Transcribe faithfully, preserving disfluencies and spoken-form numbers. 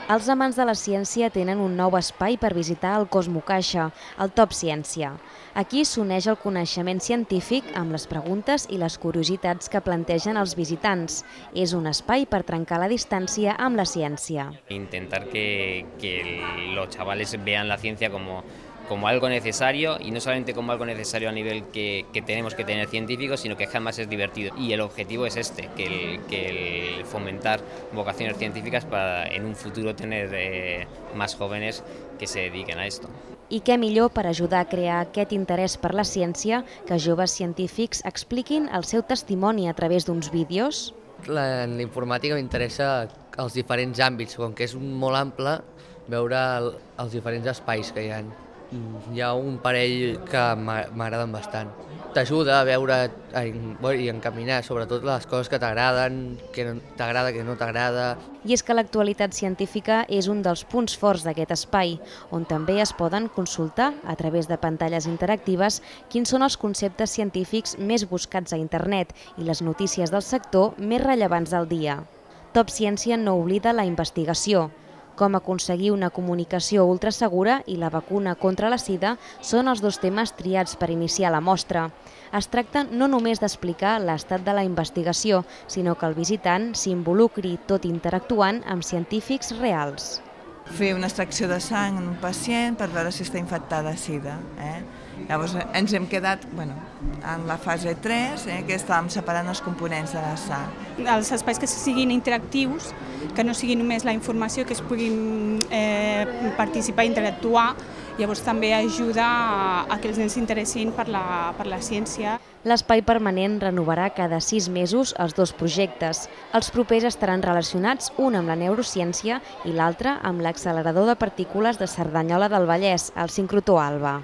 Els amants de la ciència tenen un nou espai per visitar el Cosmocaixa, el Top Ciència. Aquí s'uneix el coneixement científic amb les preguntes i les curiositats que plantegen els visitants. És un espai per trencar la distància amb la ciència. Intentar que, que los chavales vean la ciencia como como algo necesario, y no solamente como algo necesario a nivel que, que tenemos que tener científicos, sino que además es divertido. Y el objetivo es este, que el, que el fomentar vocaciones científicas para en un futuro tener eh, más jóvenes que se dediquen a esto. I què millor per ajudar a crear aquest interès per la ciència que joves científics expliquin el seu testimoni a través d'uns vídeos? En la informàtica m'interessa els diferents àmbits, com que és molt ample, veure el, els diferents espais que hi ha. Hi ha un parell que m'agraden bastant. T'ajuda a veure i encaminar sobretot les coses que t'agraden, que t'agrada, que no t'agrada. I és que l'actualitat científica és un dels punts forts d'aquest espai, on també es poden consultar, a través de pantalles interactives, quins són els conceptes científics més buscats a internet i les notícies del sector més rellevants del dia. Top Ciència no oblida la investigació. Com aconseguir una comunicació ultrasegura i la vacuna contra la sida són els dos temes triats per iniciar la mostra. Es tracta no només d'explicar l'estat de la investigació, sinó que el visitant s'involucri tot interactuant amb científics reals. Fer una extracció de sang en un pacient per veure si està infectada de sida. Eh? Llavors ens hem quedat bueno, en la fase tres, eh, que estàvem separant els components de la sang. Els espais que siguin interactius, que no sigui només la informació, que es puguin eh, participar i interactuar, llavors també ajuda a, a que els nens s'interessin per la, per la ciència. L'espai permanent renovarà cada sis mesos els dos projectes. Els propers estaran relacionats, un amb la neurociència i l'altre amb l'accelerador de partícules de Cerdanyola del Vallès, el sincrotró Alba.